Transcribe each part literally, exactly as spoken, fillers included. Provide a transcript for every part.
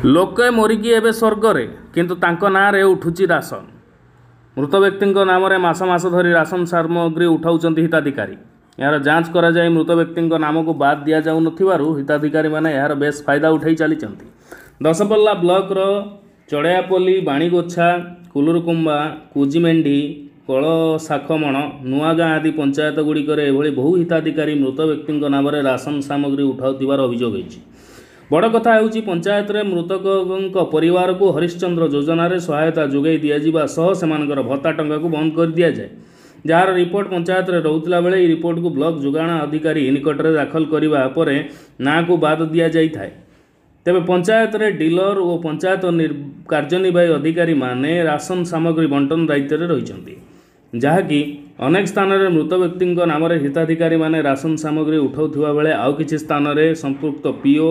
ଲୋକେ ମରିକି ଏବେ ସ୍ୱର୍ଗରେ, କିନ୍ତୁ ତାଙ୍କ ନାଁରେ ଉଠୁଛି ରାସନ। ମୃତ ବ୍ୟକ୍ତିଙ୍କ ନାମରେ ମାସ ମାସ ଧରି ରାସନ ସାମଗ୍ରୀ ଉଠାଉଛନ୍ତି ହିତାଧିକାରୀ। ଏହାର ଯାଞ୍ଚ କରାଯାଇ ମୃତ ବ୍ୟକ୍ତିଙ୍କ ନାମକୁ ବାଦ୍ ଦିଆଯାଉନଥିବାରୁ ହିତାଧିକାରୀମାନେ ଏହାର ବେଶ୍ ଫାଇଦା ଉଠାଇ ଚାଲିଛନ୍ତି। ଦଶପଲ୍ଲା ବ୍ଲକର ଚଢ଼େଇଆପଲ୍ଲୀ, ବାଣିଗୋଛା, କୁଲୁରୁକୁମ୍ବା, କୁଜିମେଣ୍ଢି, କଳଶାଖମଣ, ନୂଆଗାଁ ଆଦି ପଞ୍ଚାୟତଗୁଡ଼ିକରେ ଏଭଳି ବହୁ ହିତାଧିକାରୀ ମୃତ ବ୍ୟକ୍ତିଙ୍କ ନାମରେ ରାସନ ସାମଗ୍ରୀ ଉଠାଉଥିବାର ଅଭିଯୋଗ ହୋଇଛି। ବଡ଼ କଥା ହେଉଛି, ପଞ୍ଚାୟତରେ ମୃତକଙ୍କ ପରିବାରକୁ ହରିଶ୍ଚନ୍ଦ୍ର ଯୋଜନାରେ ସହାୟତା ଯୋଗାଇ ଦିଆଯିବା ସହ ସେମାନଙ୍କର ଭତ୍ତା ଟଙ୍କାକୁ ବନ୍ଦ କରିଦିଆଯାଏ। ଯାହାର ରିପୋର୍ଟ ପଞ୍ଚାୟତରେ ରହୁଥିଲା ବେଳେ ଏହି ରିପୋର୍ଟକୁ ବ୍ଲକ ଯୋଗାଣ ଅଧିକାରୀ ନିକଟରେ ଦାଖଲ କରିବା ପରେ ନାଁକୁ ବାଦ ଦିଆଯାଇଥାଏ। ତେବେ ପଞ୍ଚାୟତରେ ଡିଲର ଓ ପଞ୍ଚାୟତ କାର୍ଯ୍ୟନିର୍ବାହୀ ଅଧିକାରୀମାନେ ରାସନ ସାମଗ୍ରୀ ବଣ୍ଟନ ଦାୟିତ୍ୱରେ ରହିଛନ୍ତି, ଯାହାକି ଅନେକ ସ୍ଥାନରେ ମୃତ ବ୍ୟକ୍ତିଙ୍କ ନାମରେ ହିତାଧିକାରୀମାନେ ରାସନ ସାମଗ୍ରୀ ଉଠାଉଥିବା ବେଳେ ଆଉ କିଛି ସ୍ଥାନରେ ସମ୍ପୃକ୍ତ ପିଓ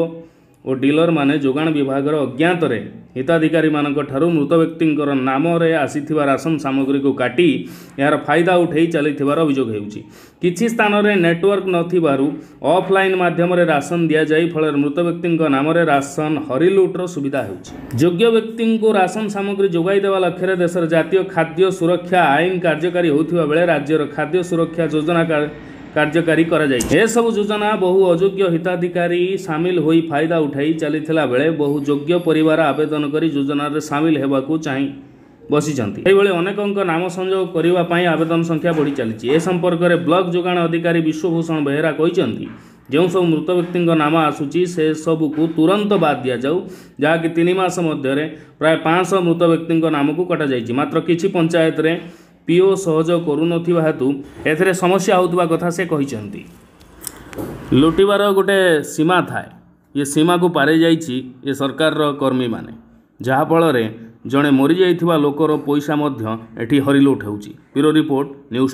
ଓ ଡିଲରମାନେ ଯୋଗାଣ ବିଭାଗର ଅଜ୍ଞାତରେ ହିତାଧିକାରୀମାନଙ୍କ ଠାରୁ ମୃତ ବ୍ୟକ୍ତିଙ୍କର ନାମରେ ଆସିଥିବା ରାସନ ସାମଗ୍ରୀକୁ କାଟି ଏହାର ଫାଇଦା ଉଠାଇ ଚାଲିଥିବାର ଅଭିଯୋଗ ହେଉଛି। କିଛି ସ୍ଥାନରେ ନେଟୱାର୍କ ନଥିବାରୁ ଅଫଲାଇନ୍ ମାଧ୍ୟମରେ ରାସନ ଦିଆଯାଇ ଫଳରେ ମୃତ ବ୍ୟକ୍ତିଙ୍କ ନାମରେ ରାସନ ହରିଲୁଟ୍ର ସୁବିଧା ହେଉଛି। ଯୋଗ୍ୟ ବ୍ୟକ୍ତିଙ୍କୁ ରାସନ ସାମଗ୍ରୀ ଯୋଗାଇ ଦେବା ଲକ୍ଷ୍ୟରେ ଦେଶର ଜାତୀୟ ଖାଦ୍ୟ ସୁରକ୍ଷା ଆଇନ କାର୍ଯ୍ୟକାରୀ ହେଉଥିବା ବେଳେ ରାଜ୍ୟର ଖାଦ୍ୟ ସୁରକ୍ଷା ଯୋଜନା କାର୍ଯ୍ୟକାରୀ କରାଯାଇଛି। ଏସବୁ ଯୋଜନା ବହୁ ଅଯୋଗ୍ୟ ହିତାଧିକାରୀ ସାମିଲ ହୋଇ ଫାଇଦା ଉଠାଇ ଚାଲିଥିଲା ବେଳେ ବହୁ ଯୋଗ୍ୟ ପରିବାର ଆବେଦନ କରି ଯୋଜନାରେ ସାମିଲ ହେବାକୁ ଚାହିଁ ବସିଛନ୍ତି। ସେହିଭଳି ଅନେକଙ୍କ ନାମ ସଂଯୋଗ କରିବା ପାଇଁ ଆବେଦନ ସଂଖ୍ୟା ବଢ଼ି ଚାଲିଛି। ଏ ସମ୍ପର୍କରେ ବ୍ଲକ ଯୋଗାଣ ଅଧିକାରୀ ବିଶ୍ୱଭୂଷଣ ବେହେରା କହିଛନ୍ତି, ଯେଉଁ ସବୁ ମୃତ ବ୍ୟକ୍ତିଙ୍କ ନାମ ଆସୁଛି ସେସବୁକୁ ତୁରନ୍ତ ବାଦ୍ ଦିଆଯାଉ, ଯାହାକି ତିନି ମାସ ମଧ୍ୟରେ ପ୍ରାୟ ପାଞ୍ଚଶହ ମୃତ ବ୍ୟକ୍ତିଙ୍କ ନାମକୁ କଟାଯାଇଛି। ମାତ୍ର କିଛି ପଞ୍ଚାୟତରେ ପିଓ ସହଯୋଗ କରୁନଥିବା ହେତୁ ଏଥିରେ ସମସ୍ୟା ହେଉଥିବା କଥା ସେ କହିଛନ୍ତି। ଲୁଟିବାର ଗୋଟେ ସୀମା ଥାଏ, ଏ ସୀମାକୁ ପାରି ଯାଇଛି ଏ ସରକାରର କର୍ମୀମାନେ, ଯାହାଫଳରେ ଜଣେ ମରିଯାଇଥିବା ଲୋକର ପଇସା ମଧ୍ୟ ଏଠି ହରିଲୁଟ୍ ହେଉଛି। Bureau report, news.